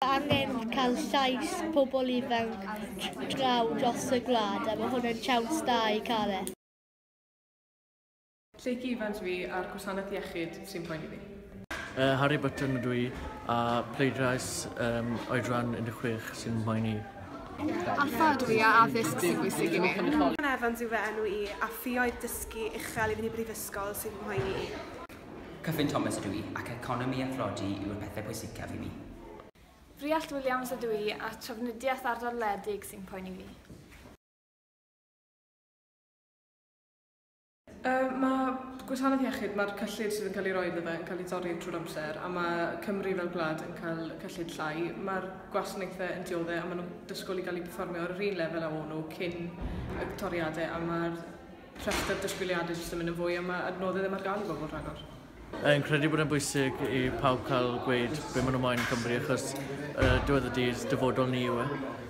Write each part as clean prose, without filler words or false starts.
Angen cael llais pobl ifanc draw dros y gwlad a mae hwn yn siawns da i cael e. Lleucu Ifans fi a'r gwasanaeth iechyd sy'n poeni fi. Harry Button ydw i a pleidlais oedran 16 sy'n mhoeni. Alffa ydw i a addysg sy'n bwysig i mi. Rhian Evans yw fy enw i a ffioedd dysgu uchel i fynd i brifysgol sy'n mhoeni i. Cyffin Thomas ydw i ac economi a thlodi yw'r pethau pwysicaf i mi. Rhiallt Williams ydw i a trafnidiaeth ardal wledig sy'n poeni fi. Mae gwasanaeth iechyd, mae'r cyllid sydd yn cael ei roi iddo fe yn cael ei dorri trwy'r amser a mae Cymru fel gwlad yn cael cyllid llai. Mae'r gwasanaethau yn dioddef a maen nhw'n disgwyl i gael eu perfformio ar yr un lefel a o'n nhw cyn y toriadau a mae'r rhestr disgwyliadau jyst yn mynd yn fwy a mae adnoddau ddim ar gael i bobl rhagor. Yn credu bod e'n bwysig i pawb cael gweud be maen nhw moyn yn Cymru achos diwedd y dydd dyfodol ni yw e.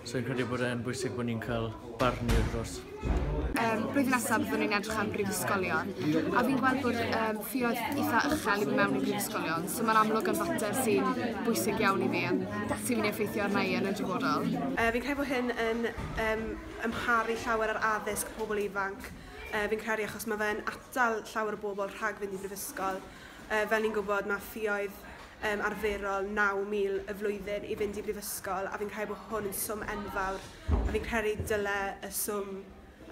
So fi'n credu bod e'n bwysig bod ni'n cael barn ni dros. Blwyddyn nesaf byddwn ni'n edrych am brifysgolion a fi'n gweld bod ffioedd eitha uchel i fynd mewn i brifysgolion, so mae'n amlwg yn fater sy'n bwysig iawn i fi a sy'n mynd i effeithio arna i yn y dyfodol. Fi'n credu bod hyn yn amharu llawer ar addysg pobl ifanc. Fi'n credu achos mae fe'n atal llawer o bobl rhag fynd i brifysgol. Fel ni'n gwybod, mae ffioedd arferol 9,000 y flwyddyn i fynd i brifysgol a fi'n credu bod hwn yn swm enfawr a fi'n credu dyle y swm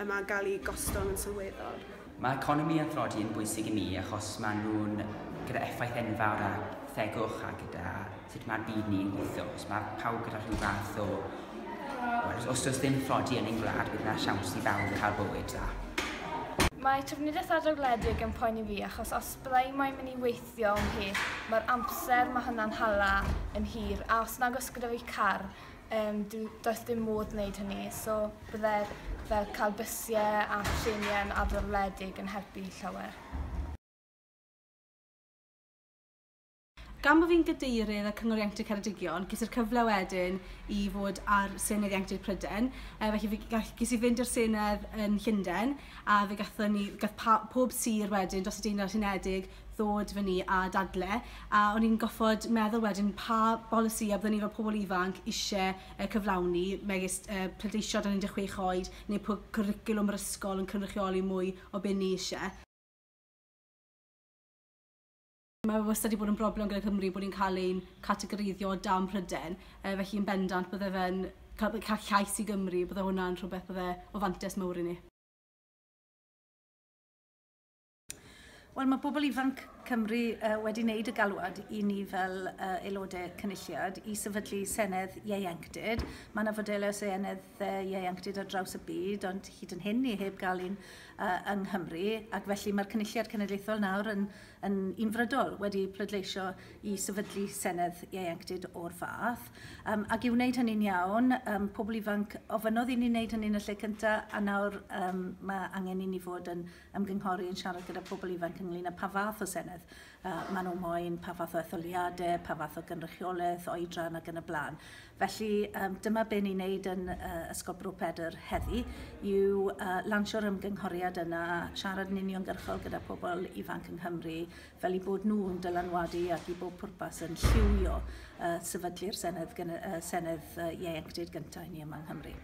yma gael ei gostwng yn sylweddol. Mae economi a thlodi yn bwysig i mi achos maen nhw'n gyda effaith enfawr ar thegwch a gyda sut mae'r byd ni'n gweithio. Os mae pawb gyda rhyw fath o... Os does ddim tlodi yn ein gwlad, bydd yna siawns i bawb cael bywyd dda. Mae trafnidiaeth ardal wledig yn poeni fi achos os bydda i moyn mynd i weithio yn pell, mae'r amser mae hynna'n hala yn hir a os nag oes gyda fi car, does dim modd wneud hynny, so bydde'r fel cael bysiau a treniau yn ardal wledig yn helpu llawer. Gan bod fi'n gadeirydd y Cyngor Ieuenctid Ceredigion, ges i'r cyfle wedyn i fod ar Senedd Ieuenctid Prydain. Felly ges i fynd i'r Senedd yn Llundain, a fe gathon ni, gath pob sir wedyn dros y Deyrnas Unedig ddod fyny a dadle. A o'n i'n goffod meddwl wedyn pa bolisi a byddwn ni fel pobl ifanc eisiau cyflawni, megis pleidleisio dan 16 oed, neu cwricwlwm yr ysgol yn cynrychioli mwy o be ni eisiau. Mae wastad wedi bod yn broblem gyda Cymru bod ni'n cael ein categoreiddio o dan Prydain, felly yn bendant bydde fe'n cael llais i Gymru, bydde hwnna'n rhywbeth bydde o fantais mawr i ni. Wel, mae bobl ifanc Cymru wedi wneud y galwad i ni fel aelodau cynulliad i sefydlu Senedd Ieuenctid. Mae yna fodelau Senedd Ieuenctid ar draws y byd, ond hyd yn hyn ni heb gael un yng Nghymru, ac felly mae'r Cynulliad Cenedlaethol nawr yn unfrydol wedi pleidleisio i sefydlu Senedd Ieuenctid o'r fath. Ac i wneud hynny'n iawn, pobl ifanc ofynnodd i ni wneud hynny yn y lle cyntaf, a nawr mae angen i ni fod yn ymgynghori yn siarad gyda pobl ifanc ynglyn â pa fath o Senedd maen nhw moyn, pa fath o etholiadau, pa fath o gynrychiolaeth, oedran ac yn y blaen. Felly dyma be ni'n neud yn Ysgol Bro Pedr heddi, yw lansio'r ymgynghoriad yna, siarad yn uniongyrchol gyda pobl ifanc yng Nghymru, fel i bod nhw'n dylanwadu ac i bob pwrpas yn lliwio sefydlu'r Senedd Ieuenctid gyntaf i ni yma yng Nghymru.